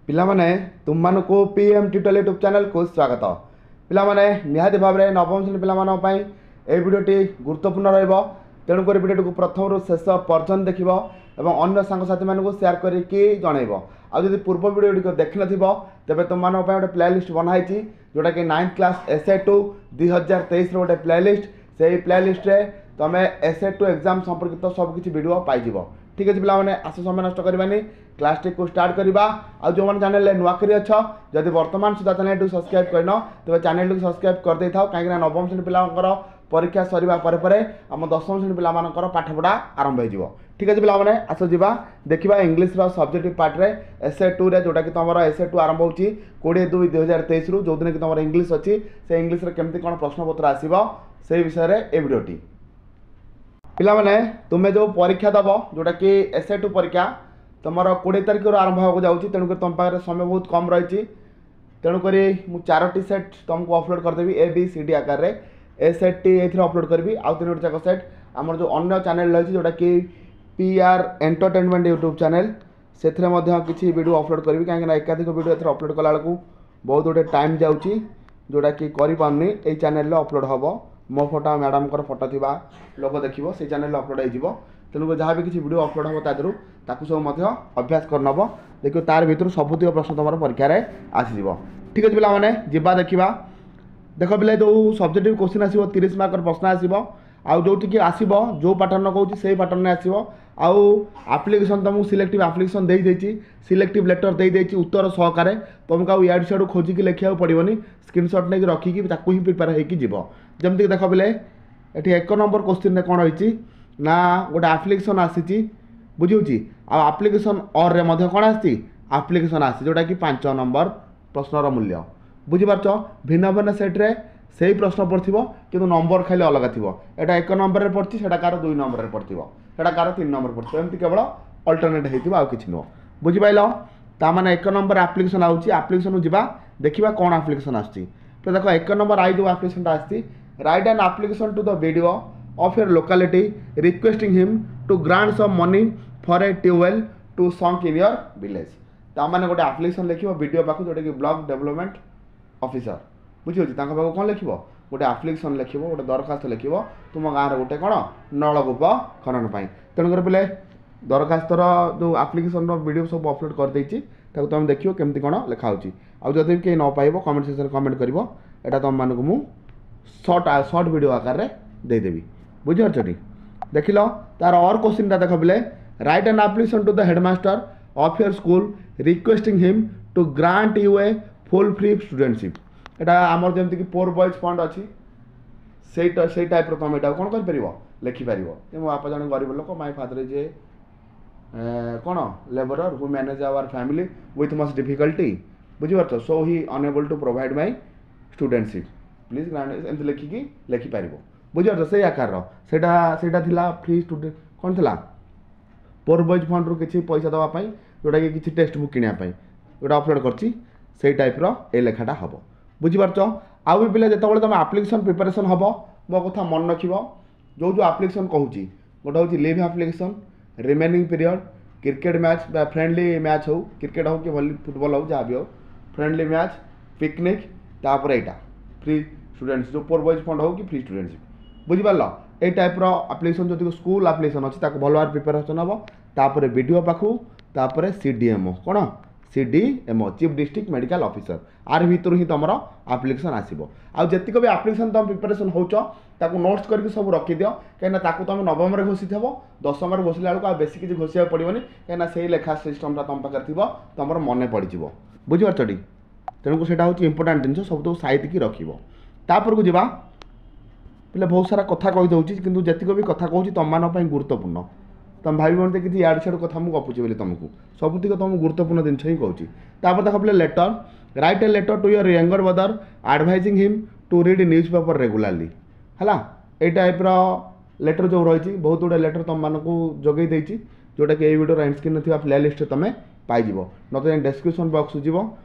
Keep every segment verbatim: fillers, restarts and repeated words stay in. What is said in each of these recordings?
ପିଲାମାନେ ତୁମମାନଙ୍କୁ P M tutorial YouTube ଚ୍ୟାନେଲ୍କୁ ସ୍ୱାଗତ ପିଲାମାନେ ନିହାତି ଭାବରେ ନବମ ଶ୍ରେଣୀ ପିଲାମାନଙ୍କ ପାଇଁ ଏହି ଭିଡ଼ିଓଟି ଗୁରୁତ୍ୱପୂର୍ଣ୍ଣ ରହିବ ତେଣୁକରି ଭିଡ଼ିଓଟିକୁ ପ୍ରଥମରୁ ଶେଷ ପର୍ଯ୍ୟନ୍ତ ଦେଖିବ ଏବଂ ଅନ୍ୟ ସାଙ୍ଗସାଥିମାନଙ୍କୁ ସେୟାର କରିକି ଜଣାଇବ ଆଉ ଯଦି ପୂର୍ବ ଭିଡ଼ିଓ ଗୁଡ଼ିକ ଦେଖିନଥିବ ତେବେ ତୁମମାନଙ୍କ ପାଇଁ ଗୋଟେ ପ୍ଲେ ଲିଷ୍ଟ ବନା ହେଇଛି ଯେଉଁଟାକି ninth class S A two ଦୁଇ ହଜାର ତେଇଶର ଗୋଟେ ପ୍ଲେ ଲିଷ୍ଟ ସେଇ ପ୍ଲେ ଲିଷ୍ଟରେ ତୁମେ ଏସ୍ ଏ ଟୁ ଏକ୍ଜାମ୍ ସମ୍ପର୍କିତ ସବୁକିଛି ଭିଡ଼ିଓ ପାଇଯିବ ଠିକ୍ ଅଛି ପିଲାମାନେ ଆସ ସମୟ ନଷ୍ଟ କରିବାନି କ୍ଲାସ୍ଟିକୁ ଷ୍ଟାର୍ଟ କରିବା ଆଉ ଯେଉଁମାନେ ଚ୍ୟାନେଲରେ ନୂଆ କରି ଅଛ ଯଦି ବର୍ତ୍ତମାନ ସୁଦ୍ଧା ଚ୍ୟାନେଲଟିକୁ ସବସ୍କ୍ରାଇବ୍ କରିନ ତେବେ ଚ୍ୟାନେଲଟିକୁ ସବସ୍କ୍ରାଇବ୍ କରିଦେଇଥାଅ କାହିଁକିନା ନବମ ଶ୍ରେଣୀ ପିଲାଙ୍କର ପରୀକ୍ଷା ସରିବା ପରେ ପରେ ଆମ ଦଶମ ଶ୍ରେଣୀ ପିଲାମାନଙ୍କର ପାଠପଢ଼ା ଆରମ୍ଭ ହୋଇଯିବ ଠିକ୍ ଅଛି ପିଲାମାନେ ଆସ ଯିବା ଦେଖିବା ଇଂଲିଶର ସବଜେକ୍ଟିଭ୍ ପାର୍ଟରେ ଏସ୍ ଏ ଟୁରେ ଯେଉଁଟାକି ତୁମର ଏସ୍ ଏ ଟୁ ଆରମ୍ଭ ହେଉଛି କୋଡ଼ିଏ ଦୁଇ ଦୁଇ ହଜାର ତେଇଶରୁ ଯେଉଁଦିନ କି ତୁମର ଇଂଲିଶ ଅଛି ସେ ଇଂଲିଶରେ କେମିତି କ'ଣ ପ୍ରଶ୍ନପତ୍ର ଆସିବ ସେଇ ବିଷୟରେ ଏ ଭିଡ଼ିଓଟି ପିଲାମାନେ ତୁମେ ଯେଉଁ ପରୀକ୍ଷା ଦେବ ଯେଉଁଟାକି ଏସ୍ ଏ ଟୁ ପରୀକ୍ଷା ତୁମର କୋଡ଼ିଏ ତାରିଖରୁ ଆରମ୍ଭ ହେବାକୁ ଯାଉଛି ତେଣୁକରି ତୁମ ପାଖରେ ସମୟ ବହୁତ କମ୍ ରହିଛି ତେଣୁକରି ମୁଁ ଚାରୋଟି ସେଟ୍ ତୁମକୁ ଅପଲୋଡ଼ କରିଦେବି ଏ ବି ସି ଡି ଆକାରରେ ଏ ସେଟ୍ଟି ଏଇଥିରେ ଅପଲୋଡ଼ କରିବି ଆଉ ତିନୋଟି ଯାକ ସେଟ୍ ଆମର ଯେଉଁ ଅନ୍ୟ ଚ୍ୟାନେଲ୍ ରହିଛି ଯେଉଁଟାକି P R entertainment YouTube channel ସେଥିରେ ମଧ୍ୟ କିଛି ଭିଡ଼ିଓ ଅପଲୋଡ଼ କରିବି କାହିଁକିନା ଏକାଧିକ ଭିଡ଼ିଓ ଏଥିରେ ଅପଲୋଡ଼ କଲାବେଳକୁ ବହୁତ ଗୁଡ଼ିଏ ଟାଇମ୍ ଯାଉଛି ଯେଉଁଟାକି କରିପାରୁନି ଏଇ ଚ୍ୟାନେଲ୍ରେ ଅପଲୋଡ଼ ହେବ ମୋ ଫଟୋ ଆଉ ମ୍ୟାଡ଼ାମଙ୍କର ଫଟୋ ଥିବା ଲୋକ ଦେଖିବ ସେଇ ଚ୍ୟାନେଲ୍ରେ ଅପଲୋଡ଼ ହେଇଯିବ ତେଣୁକରି ଯାହା ବି କିଛି ଭିଡ଼ିଓ ଅପଲୋଡ଼ ହେବ ତା ଦେହରୁ ତାକୁ ସବୁ ମଧ୍ୟ ଅଭ୍ୟାସ କରିନେବ ଦେଖିବ ତାର ଭିତରୁ ସବୁତିକ ପ୍ରଶ୍ନ ତୁମର ପରୀକ୍ଷାରେ ଆସିଯିବ ଠିକ୍ ଅଛି ପିଲାମାନେ ଯିବା ଦେଖିବା ଦେଖ ପିଲା ଯେଉଁ ସବଜେକ୍ଟିଭ୍ କୋଶ୍ଚିନ୍ ଆସିବ ତିରିଶ ମାର୍କର ପ୍ରଶ୍ନ ଆସିବ ଆଉ ଯେଉଁଠିକି ଆସିବ ଯେଉଁ ପାଟର୍ନ କହୁଛି ସେଇ ପାଟର୍ନରେ ଆସିବ ଆଉ ଆପ୍ଲିକେସନ୍ ତୁମକୁ ସିଲେକ୍ଟିଭ୍ ଆପ୍ଲିକେସନ୍ ଦେଇଦେଇଛି ସିଲେକ୍ଟିଭ୍ ଲେଟର୍ ଦେଇଦେଇଛି ଉତ୍ତର ସହକାରେ ତୁମକୁ ଆଉ ଇଆଡ଼ୁ ସିଆଡ଼ୁ ଖୋଜିକି ଲେଖିବାକୁ ପଡ଼ିବନି ସ୍କ୍ରିନସଟ୍ ନେଇକି ରଖିକି ତାକୁ ହିଁ ପ୍ରିପେୟାର ହେଇକି ଯିବ ଯେମିତିକି ଦେଖ ପିଲେ ଏଠି ଏକ ନମ୍ବର କୋଶ୍ଚିନ୍ରେ କ'ଣ ରହିଛି ନା ଗୋଟେ ଆପ୍ଲିକେସନ୍ ଆସିଛି ବୁଝିହେଉଛି ଆଉ ଆପ୍ଲିକେସନ୍ ଅର୍ରେ ମଧ୍ୟ କ'ଣ ଆସିଛି ଆପ୍ଲିକେସନ୍ ଆସିଛି ଯେଉଁଟାକି ପାଞ୍ଚ ନମ୍ବର ପ୍ରଶ୍ନର ମୂଲ୍ୟ ବୁଝିପାରୁଛ ଭିନ୍ନ ଭିନ୍ନ ସେଟ୍ରେ ସେଇ ପ୍ରଶ୍ନ ପଡ଼ିଥିବ କିନ୍ତୁ ନମ୍ବର ଖାଲି ଅଲଗା ଥିବ ଏଇଟା ଏକ ନମ୍ବରରେ ପଡ଼ିଛି ସେଇଟା କାହାର ଦୁଇ ନମ୍ବରରେ ପଡ଼ିଥିବ ସେଇଟା କାହାର ତିନି ନମ୍ବର ପଡ଼ିଥିବ ଏମିତି କେବଳ ଅଲ୍ଟରନେଟ୍ ହେଇଥିବ ଆଉ କିଛି ନୁହଁ ବୁଝିପାରିଲ ତାମାନେ ଏକ ନମ୍ବର ଆପ୍ଲିକେସନ୍ ଆଉଛି ଆପ୍ଲିକେସନ୍କୁ ଯିବା ଦେଖିବା କ'ଣ ଆପ୍ଲିକେସନ୍ ଆସୁଛି ତ ଦେଖ ଏକ ନମ୍ବର I ଯେଉଁ ଆପ୍ଲିକେସନ୍ଟା ଆସିଛି write an application to the BDO of your locality requesting him to grant some money for a tubewell to sunk in your village ତାମାନେ ଗୋଟେ ଆପ୍ଲିକେସନ୍ ଲେଖିବ ବିଡ଼ିଓ ପାଖକୁ ଯେଉଁଟାକି ବ୍ଲକ୍ ଡେଭଲପମେଣ୍ଟ ଅଫିସର ବୁଝିହେଉଛି ତାଙ୍କ ପାଖକୁ କ'ଣ ଲେଖିବ ଗୋଟେ ଆପ୍ଲିକେସନ୍ ଲେଖିବ ଗୋଟେ ଦରଖାସ୍ତ ଲେଖିବ ତୁମ ଗାଁରେ ଗୋଟେ କ'ଣ ନଳକୂପ ଖନନ ପାଇଁ ତେଣୁକରି ପିଲେ ଦରଖାସ୍ତର ଯେଉଁ ଆପ୍ଲିକେସନ୍ର ଭିଡ଼ିଓ ସବୁ ଅପଲୋଡ଼ କରିଦେଇଛି ତାକୁ ତୁମେ ଦେଖିବ କେମିତି କ'ଣ ଲେଖା ହେଉଛି ଆଉ ଯଦି ବି କେହି ନ ପାଇବ କମେଣ୍ଟ ସେକ୍ସନରେ କମେଣ୍ଟ କରିବ ଏଇଟା ତୁମମାନଙ୍କୁ ମୁଁ ସର୍ଟ ସର୍ଟ ଭିଡ଼ିଓ ଆକାରରେ ଦେଇଦେବି ବୁଝିପାରୁଛ ଟି ଦେଖିଲ ତାର ଅର୍ କୋଶ୍ଚିନ୍ଟା ଦେଖ ପିଲେ write an application to the headmaster of your school requesting him to grant you a full free studentship ଏଇଟା ଆମର ଯେମିତିକି ପୋର୍ ବଏଜ୍ ଫଣ୍ଡ ଅଛି ସେଇଟା ସେଇ ଟାଇପ୍ର ତୁମେ ଏଇଟାକୁ କ'ଣ କରିପାରିବ ଲେଖିପାରିବ ଯେ ମୋ ବାପା ଜଣେ ଗରିବ ଲୋକ my father is a କ'ଣ labourer who manage our family with much difficulty ବୁଝିପାରୁଛ show Hi ଅନଏବଲ୍ two provide my ଷ୍ଟୁଡେଣ୍ଟସିପ୍ please grant ଏମିତି ଲେଖିକି ଲେଖିପାରିବ ବୁଝିପାରୁଛ ସେଇ ଆକାରର ସେଇଟା ସେଇଟା ଥିଲା ଫ୍ରି ଷ୍ଟୁଡେଣ୍ଟ କ'ଣ ଥିଲା ପୋର୍ ବଏଜ୍ ଫଣ୍ଡରୁ କିଛି ପଇସା ଦେବା ପାଇଁ ଯେଉଁଟାକି କିଛି ଟେକ୍ସଟ ବୁକ୍ କିଣିବା ପାଇଁ ଯେଉଁଟା ଅପଲୋଡ଼ କରିଛି ସେଇ ଟାଇପ୍ର ଏଇ ଲେଖାଟା ହେବ ବୁଝିପାରୁଛ ଆଉ ବି ପିଲା ଯେତେବେଳେ ତୁମେ ଆପ୍ଲିକେସନ୍ ପ୍ରିପାରେସନ୍ ହେବ ମୋ କଥା ମନେ ରଖିବ ଯେଉଁ ଯେଉଁ ଆପ୍ଲିକେସନ୍ କହୁଛି ଗୋଟେ ହେଉଛି leave application remaining period cricket match ବା ଫ୍ରେଣ୍ଡଲି ମ୍ୟାଚ୍ ହେଉ କ୍ରିକେଟ୍ ହେଉ କି ଭଲି ଫୁଟବଲ୍ ହେଉ ଯାହା ବି ହେଉ ଫ୍ରେଣ୍ଡଲି ମ୍ୟାଚ୍ ପିକନିକ୍ ତାପରେ ଏଇଟା ଫ୍ରି ଷ୍ଟୁଡେଣ୍ଟସ୍ ଯେଉଁ ପୋର୍ ବଏଜ୍ ଫଣ୍ଡ ହେଉ କି ଫ୍ରି ଷ୍ଟୁଡେଣ୍ଟସିପ୍ ବୁଝିପାରିଲ ଏଇ ଟାଇପ୍ର ଆପ୍ଲିକେସନ୍ ଯଦି ସ୍କୁଲ ଆପ୍ଲିକେସନ୍ ଅଛି ତାକୁ ଭଲ ଭାବରେ ପ୍ରିପାରେସନ୍ ହେବ ତାପରେ ବି ଡ଼ି ଓ ପାଖକୁ ତାପରେ ସି ଡି ଏମ୍ ଓ କ'ଣ C D M O chief district medical officer ଆର ଭିତରୁ ହିଁ ତୁମର ଆପ୍ଲିକେସନ୍ ଆସିବ ଆଉ ଯେତିକ ବି ଆପ୍ଲିକେସନ୍ ତୁମେ ପ୍ରିପାରେସନ୍ ହେଉଛ ତାକୁ ନୋଟ୍ସ କରିକି ସବୁ ରଖିଦିଅ କାହିଁକିନା ତାକୁ ତୁମେ ନବମରେ ଘୋଷିଥିବ ଦଶମରେ ଘୋଷିଲା ବେଳକୁ ଆଉ ବେଶୀ କିଛି ଘୋଷିବାକୁ ପଡ଼ିବନି କାହିଁକିନା ସେଇ ଲେଖା ସିଷ୍ଟମ୍ଟା ତୁମ ପାଖରେ ଥିବ ତୁମର ମନେ ପଡ଼ିଯିବ ବୁଝିପାରୁଛ ଟି ତେଣୁ ସେଇଟା ହେଉଛି ଇମ୍ପୋର୍ଟାଣ୍ଟ ଜିନିଷ ସବୁତକ ସାଇତିକି ରଖିବ ତାପରକୁ ଯିବା ପିଲା ବହୁତ ସାରା କଥା କହିଦେଉଛି କିନ୍ତୁ ଯେତିକ ବି କଥା କହୁଛି ତୁମମାନଙ୍କ ପାଇଁ ଗୁରୁତ୍ୱପୂର୍ଣ୍ଣ ତୁମେ ଭାବିବନି ଯେ କିଛି ଇଆଡ଼ୁ ସିଆଡ଼ୁ କଥା ମୁଁ ଗପୁଛି ବୋଲି ତୁମକୁ ସବୁତିକ ତୁମକୁ ଗୁରୁତ୍ୱପୂର୍ଣ୍ଣ ଜିନିଷ ହିଁ କହୁଛି ତାପରେ ଦେଖ ପିଲା letter write a letter to your younger brother advising him to read newspaper regularly ହେଲା ଏଇ ଟାଇପ୍ର ଲେଟର୍ ଯେଉଁ ରହିଛି ବହୁତ ଗୁଡ଼ିଏ ଲେଟର୍ ତୁମମାନଙ୍କୁ ଯୋଗାଇ ଦେଇଛି ଯେଉଁଟାକି ଏଇ ଭିଡ଼ିଓର ଏଣ୍ଡ ସ୍କ୍ରିନ୍ରେ ଥିବା ପ୍ଲେ ଲିଷ୍ଟରେ ତୁମେ ପାଇଯିବ ନଚେତ୍ ଡେସ୍କ୍ରିପସନ୍ ବକ୍ସକୁ ଯିବ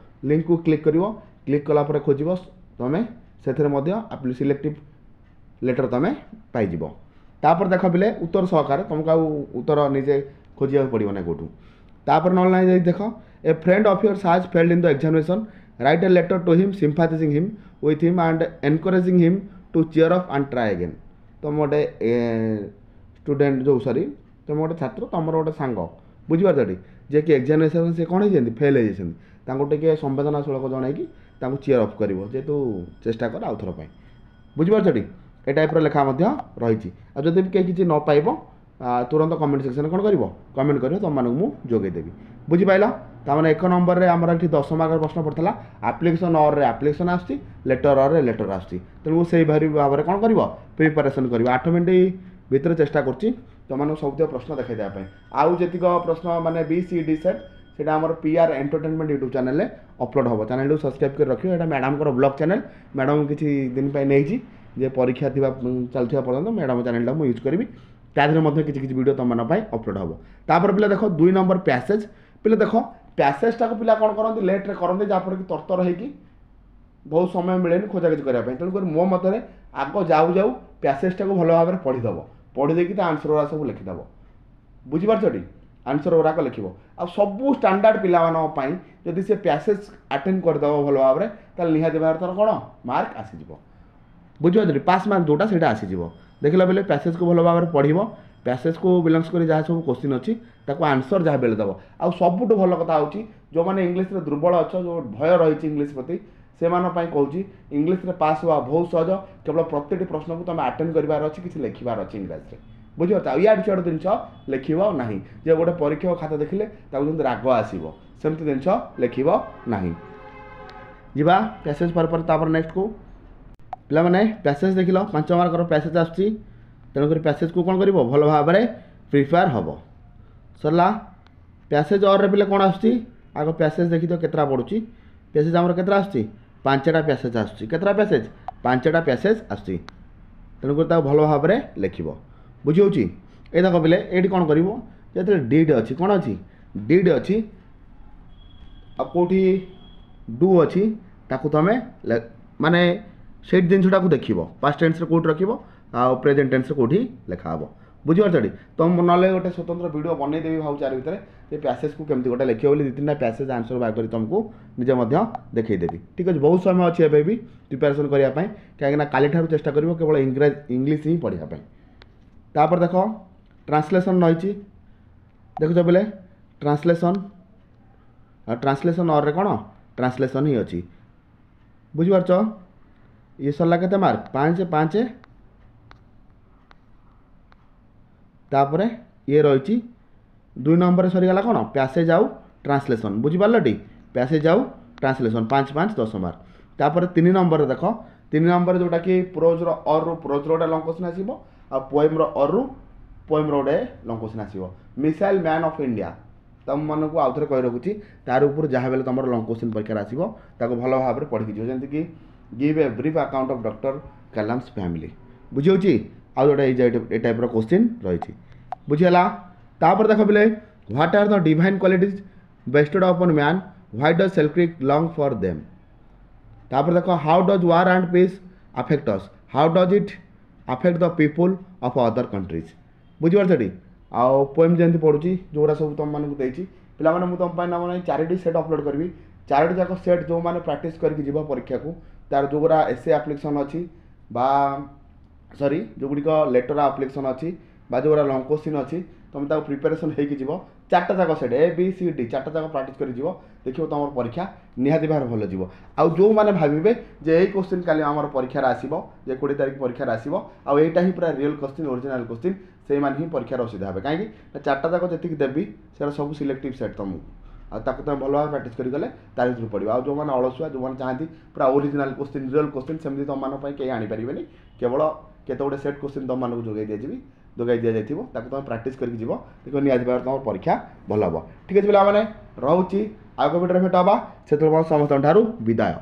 ଲିଙ୍କକୁ କ୍ଲିକ୍ କରିବ କ୍ଲିକ୍ କଲା ପରେ ଖୋଜିବ ତୁମେ ସେଥିରେ ମଧ୍ୟ ସିଲେକ୍ଟିଭ୍ ଲେଟର୍ ତୁମେ ପାଇଯିବ ତାପରେ ଦେଖ ପିଲେ ଉତ୍ତର ସହକାରେ ତୁମକୁ ଆଉ ଉତ୍ତର ନିଜେ ଖୋଜିବାକୁ ପଡ଼ିବ ନା କେଉଁଠୁ ତାପରେ ନହେଲେ ନାହିଁ ଯଦି ଦେଖ a friend of yours has failed in the examination write a letter to him sympathizing him with him and encouraging him to cheer up and try again ତୁମ ଗୋଟେ ଷ୍ଟୁଡେଣ୍ଟ ଯେଉଁ ସରି ତୁମ ଗୋଟେ ଛାତ୍ର ତୁମର ଗୋଟେ ସାଙ୍ଗ ବୁଝିପାରୁଛ ଟି ଯିଏକି ଏକ୍ଜାମିନେସନ୍ ସେ କ'ଣ ହେଇଛନ୍ତି ଫେଲ୍ ହେଇଯାଇଛନ୍ତି ତାଙ୍କୁ ଟିକେ ସମ୍ବେଦନାଶୀଳକ ଜଣାଇକି ତାଙ୍କୁ ଚିୟର ଅପ୍ କରିବ ଯେହେତୁ ଚେଷ୍ଟା କର ଆଉ ଥର ପାଇଁ ବୁଝିପାରୁଛ ଟି ଏ ଟାଇପ୍ର ଲେଖା ମଧ୍ୟ ରହିଛି ଆଉ ଯଦି ବି କେହି କିଛି ନ ପାଇବ ଆ, ତୁରନ୍ତ କମେଣ୍ଟ ସେକ୍ସନରେ କ'ଣ କରିବ କମେଣ୍ଟ କରିବ ତୁମମାନଙ୍କୁ ମୁଁ ଯୋଗାଇଦେବି ବୁଝିପାରିଲ ତାମାନେ ଏକ ନମ୍ବରରେ ଆମର ଏଠି ଦଶ ମାର୍କର ପ୍ରଶ୍ନ ପଡ଼ିଥିଲା ଆପ୍ଲିକେସନ୍ ଅର୍ରେ ଆପ୍ଲିକେସନ୍ ଆସୁଛି ଲେଟର୍ ଅର୍ରେ ଲେଟର୍ ଆସୁଛି ତେଣୁ ସେଇଭଳି ଭାବରେ କ'ଣ କରିବ ପ୍ରିପାରେସନ୍ କରିବ ଆଠ ମିନିଟ୍ ଭିତରେ ଚେଷ୍ଟା କରୁଛି ତୁମମାନଙ୍କୁ ସବୁତିକ ପ୍ରଶ୍ନ ଦେଖାଇ ଦେବା ପାଇଁ ଆଉ ଯେତିକ ପ୍ରଶ୍ନ ମାନେ ବି ସି ଡି ସେଟ୍ ସେଇଟା ଆମର ପି ଆର୍ ଏଣ୍ଟରଟେନମେଣ୍ଟ ୟୁଟ୍ୟୁବ୍ ଚ୍ୟାନେଲରେ ଅପଲୋଡ଼ ହେବ ଚ୍ୟାନେଲଟିକୁ ସବସ୍କ୍ରାଇବ୍ କରି ରଖିବ ଏଇଟା ମ୍ୟାଡ଼ାମଙ୍କର ବ୍ଲଗ୍ ଚ୍ୟାନେଲ୍ ମ୍ୟାଡ଼ାମ୍ କିଛି ଦିନ ପାଇଁ ନେଇଛି ଯେ ପରୀକ୍ଷା ଥିବା ଚାଲିଥିବା ପର୍ଯ୍ୟନ୍ତ ମ୍ୟାଡ଼ାମ୍ ଚ୍ୟାନେଲଟା ମୁଁ ୟୁଜ୍ କରିବି ତା ଦେହରେ ମଧ୍ୟ କିଛି କିଛି ଭିଡ଼ିଓ ତୁମମାନଙ୍କ ପାଇଁ ଅପଲୋଡ଼ ହେବ ତାପରେ ପିଲା ଦେଖ ଦୁଇ ନମ୍ବର ପ୍ୟାସେଜ୍ ପିଲା ଦେଖ ପ୍ୟାସେଜଟାକୁ ପିଲା କ'ଣ କରନ୍ତି ଲେଟ୍ରେ କରନ୍ତି ଯାହାଫଳରେ କି ତରତର ହେଇକି ବହୁତ ସମୟ ମିଳେନି ଖୋଜାଖୋଜି କରିବା ପାଇଁ ତେଣୁକରି ମୋ ମତରେ ଆଗ ଯାଉ ଯାଉ ପ୍ୟାସେଜଟାକୁ ଭଲ ଭାବରେ ପଢ଼ିଦେବ ପଢ଼ି ଦେଇକି ତା ଆନ୍ସର୍ ଗୁଡ଼ା ସବୁ ଲେଖିଦେବ ବୁଝିପାରୁଛ ଟି ଆନ୍ସର୍ ଗୁଡ଼ାକ ଲେଖିବ ଆଉ ସବୁ ଷ୍ଟାଣ୍ଡାର୍ଡ଼ ପିଲାମାନଙ୍କ ପାଇଁ ଯଦି ସେ ପ୍ୟାସେଜ୍ ଆଟେଣ୍ଡ କରିଦେବ ଭଲ ଭାବରେ ତାହେଲେ ନିହାତି ଭାବରେ ତାର କ'ଣ ମାର୍କ ଆସିଯିବ ବୁଝିପାରୁଛ ଟି ପାସ୍ ମାର୍କ ଯେଉଁଟା ସେଇଟା ଆସିଯିବ ଦେଖିଲା ବେଲେ ପ୍ୟାସେଜକୁ ଭଲ ଭାବରେ ପଢ଼ିବ ପ୍ୟାସେଜକୁ ବିଲଙ୍ଗସ୍ କରି ଯାହା ସବୁ କୋଶ୍ଚିନ୍ ଅଛି ତାକୁ ଆନ୍ସର୍ ଯାହା ବେଲେ ଦେବ ଆଉ ସବୁଠୁ ଭଲ କଥା ହେଉଛି ଯେଉଁମାନେ ଇଂଲିଶରେ ଦୁର୍ବଳ ଅଛ ଯେଉଁ ଭୟ ରହିଛି ଇଂଲିଶ ପ୍ରତି ସେମାନଙ୍କ ପାଇଁ କହୁଛି ଇଂଲିଶରେ ପାସ୍ ହେବା ବହୁତ ସହଜ କେବଳ ପ୍ରତିଟି ପ୍ରଶ୍ନକୁ ତୁମେ ଆଟେଣ୍ଡ କରିବାର ଅଛି କିଛି ଲେଖିବାର ଅଛି ଇଂରାଜୀରେ ବୁଝିପାରୁଛ ଆଉ ଇଆଡ଼ୁ ସିଆଡ଼ୁ ଜିନିଷ ଲେଖିବ ନାହିଁ ଯେ ଗୋଟେ ପରୀକ୍ଷକ ଖାତା ଦେଖିଲେ ତାକୁ ଯେମିତି ରାଗ ଆସିବ ସେମିତି ଜିନିଷ ଲେଖିବ ନାହିଁ ଯିବା ପ୍ୟାସେଜ୍ ପରେ ପରେ ତାପରେ ନେକ୍ସଟକୁ ପିଲାମାନେ ପ୍ୟାସେଜ୍ ଦେଖିଲ ପାଞ୍ଚ ମାର୍କର ପ୍ୟାସେଜ୍ ଆସୁଛି ତେଣୁକରି ପ୍ୟାସେଜକୁ କ'ଣ କରିବ ଭଲ ଭାବରେ ପ୍ରିପେୟାର ହେବ ସରିଲା ପ୍ୟାସେଜ୍ ଅର୍ରେ ପିଲା କ'ଣ ଆସୁଛି ଆଗ ପ୍ୟାସେଜ୍ ଦେଖିଦିଅ କେତେଟା ପଡ଼ୁଛି ପ୍ୟାସେଜ୍ ଆମର କେତେଟା ଆସୁଛି ପାଞ୍ଚଟା ପ୍ୟାସେଜ୍ ଆସୁଛି କେତେଟା ପ୍ୟାସେଜ୍ ପାଞ୍ଚଟା ପ୍ୟାସେଜ୍ ଆସୁଛି ତେଣୁକରି ତାକୁ ଭଲ ଭାବରେ ଲେଖିବ ବୁଝି ହେଉଛି ଏଇ ଦେଖ ପିଲେ ଏଇଠି କ'ଣ କରିବ ଯେତେବେଳେ did ଅଛି କ'ଣ ଅଛି did ଅଛି ଆଉ କେଉଁଠି ଡୁ ଅଛି ତାକୁ ତୁମେ ମାନେ ସେଇ ଜିନିଷଟାକୁ ଦେଖିବ ପାଷ୍ଟ ଟେନ୍ସରେ କେଉଁଠି ରଖିବ ଆଉ ପ୍ରେଜେଣ୍ଟ ଟେନ୍ସରେ କେଉଁଠି ଲେଖା ହେବ ବୁଝିପାରୁଛ ଟି ତ ମୁଁ ନହେଲେ ଗୋଟେ ସ୍ୱତନ୍ତ୍ର ଭିଡ଼ିଓ ବନେଇଦେବି ଭାବୁଛି ଆରି ଭିତରେ ଯେ ପ୍ୟାସେଜକୁ କେମିତି ଗୋଟେ ଲେଖିବ ବୋଲି ଦୁଇ ତିନିଟା ପ୍ୟାସେଜ୍ ଆନ୍ସର୍ ବାହାର କରି ତୁମକୁ ନିଜେ ମଧ୍ୟ ଦେଖେଇଦେବି ଠିକ୍ ଅଛି ବହୁତ ସମୟ ଅଛି ଏବେ ବି ପ୍ରିପାରେସନ୍ କରିବା ପାଇଁ କାହିଁକିନା କାଲିଠାରୁ ଚେଷ୍ଟା କରିବ କେବଳ ଇଂରାଜୀ ଇଂଲିଶ ହିଁ ପଢ଼ିବା ପାଇଁ ତାପରେ ଦେଖ ଟ୍ରାନ୍ସଲେସନ୍ ରହିଛି ଦେଖୁଛ ପିଲେ ଟ୍ରାନ୍ସଲେସନ୍ ଆଉ ଟ୍ରାନ୍ସଲେସନ୍ ଅର୍ରେ କ'ଣ ଟ୍ରାନ୍ସଲେସନ୍ ହିଁ ଅଛି ବୁଝିପାରୁଛ ଇଏ ସରିଲା କେତେ ମାର୍କ ପାଞ୍ଚ ପାଞ୍ଚ ତାପରେ ଇଏ ରହିଛି ଦୁଇ ନମ୍ବରରେ ସରିଗଲା କ'ଣ ପ୍ୟାସେଜ୍ ଆଉ ଟ୍ରାନ୍ସଲେସନ୍ ବୁଝିପାରିଲ ଟି ପ୍ୟାସେଜ୍ ଆଉ ଟ୍ରାନ୍ସଲେସନ୍ ପାଞ୍ଚ ପାଞ୍ଚ ଦଶ ମାର୍କ ତାପରେ ତିନି ନମ୍ବରରେ ଦେଖ ତିନି ନମ୍ବରରେ ଯେଉଁଟାକି ପ୍ରୋଜ୍ର ଅର୍ରୁ ପ୍ରୋଜ୍ର ଗୋଟେ ଲଙ୍ଗ କୋଶ୍ଚିନ୍ ଆସିବ ଆଉ ପୋଏମ୍ର ଅର୍ରୁ ପୋଏମ୍ର ଗୋଟେ ଲଙ୍ଗ କୋଶ୍ଚିନ୍ ଆସିବ ମିସାଇଲ୍ ମ୍ୟାନ୍ ଅଫ୍ ଇଣ୍ଡିଆ ତୁମମାନଙ୍କୁ ଆଉ ଥରେ କହି ରଖୁଛି ତାର ଉପରୁ ଯାହା ହେଲେ ତୁମର ଲଙ୍ଗ କୋଶ୍ଚିନ୍ ପରୀକ୍ଷାରେ ଆସିବ ତାକୁ ଭଲ ଭାବରେ ପଢ଼ିକି ଯିବ ଯେମିତିକି give a brief account of Doctor Kalam's family ବୁଝିହେଉଛି ଆଉ ଗୋଟେ ଏଇ ଏ ଟାଇପ୍ର କୋଶ୍ଚିନ୍ ରହିଛି ବୁଝିହେଲା ତାପରେ ଦେଖ ପିଲେ what are the divine qualities bestowed upon man why does Selkirk long for them ତାପରେ ଦେଖ how does War and Peace affect us how does it affect the people of other countries ବୁଝିପାରୁଛ ଟି ଆଉ poem ଯେମିତି ପଢ଼ୁଛି ଯେଉଁଗୁଡ଼ା ସବୁ ତୁମମାନଙ୍କୁ ଦେଇଛି ପିଲାମାନେ ମୁଁ ତୁମ ପାଇଁ ନା ମାନେ ଚାରିଟି ସେଟ୍ ଅପଲୋଡ଼ କରିବି ଚାରୋଟି ଯାକ ସେଟ୍ ଯେଉଁମାନେ ପ୍ରାକ୍ଟିସ୍ କରିକି ଯିବ ପରୀକ୍ଷାକୁ ତାର ଯେଉଁଗୁଡ଼ା ଏସେ ଆପ୍ଲିକେସନ୍ ଅଛି ବା ସରି ଯେଉଁଗୁଡ଼ିକ ଲେଟର୍ ଆପ୍ଲିକେସନ୍ ଅଛି ବା ଯେଉଁଗୁଡ଼ା ଲଙ୍ଗ କୋଶ୍ଚିନ୍ ଅଛି ତୁମେ ତାକୁ ପ୍ରିପାରେସନ୍ ହେଇକି ଯିବ ଚାରିଟା ଯାକ set A B C D ଚାରିଟା ଯାକ ପ୍ରାକ୍ଟିସ୍ କରି ଯିବ ଦେଖିବ ତୁମର ପରୀକ୍ଷା ନିହାତି ଭାବରେ ଭଲ ଯିବ ଆଉ ଯେଉଁମାନେ ଭାବିବେ ଯେ ଏଇ କୋଶ୍ଚିନ୍ କାଲି ଆମର ପରୀକ୍ଷାରେ ଆସିବ ଯେ କୋଡ଼ିଏ ତାରିଖ ପରୀକ୍ଷାରେ ଆସିବ ଆଉ ଏଇଟା ହିଁ ପୁରା ରିଅଲ୍ କୋଶ୍ଚିନ୍ ଓରିଜିନାଲ୍ କୋଶ୍ଚିନ୍ ସେଇମାନେ ହିଁ ପରୀକ୍ଷାରେ ଅସୁବିଧା ହେବେ କାହିଁକି ନା ଚାରିଟା ଯାକ ଯେତିକି ଦେବି ସେଟା ସବୁ ସିଲେକ୍ଟିଭ୍ ସେଟ୍ ତୁମକୁ ଆଉ ତାକୁ ତୁମେ ଭଲ ଭାବେ ପ୍ରାକ୍ଟିସ୍ କରି ଗଲେ ତା ଭିତରୁ ପଡ଼ିବ ଆଉ ଯେଉଁମାନେ ଅଳସୁଆ ଯେଉଁମାନେ ଚାହାନ୍ତି ପୁରା ଓରିଜିନାଲ୍ କୋଶ୍ଚିନ୍ ରିଅଲ୍ କୋଶ୍ଚିନ୍ ସେମିତି ତୁମମାନଙ୍କ ପାଇଁ କେହି ଆଣିପାରିବେନି କେବଳ କେତେ ଗୁଡ଼ିଏ ସେଟ୍ କୋଶ୍ଚିନ୍ ତୁମମାନଙ୍କୁ ଯୋଗାଇ ଦିଆଯିବି ଯୋଗାଇ ଦିଆଯାଇଥିବ ତାକୁ ତୁମେ ପ୍ରାକ୍ଟିସ୍ କରିକି ଯିବ ଦେଖିବ ନିହାତି ଭାବରେ ତୁମର ପରୀକ୍ଷା ଭଲ ହେବ ଠିକ୍ ଅଛି ପିଲାମାନେ ରହୁଛି ଆଉ ଏକ ଭିଡ଼ିଓରେ ଭେଟ ହେବା ସେତେବେଳେ ସମସ୍ତଙ୍କ ଠାରୁ ବିଦାୟ।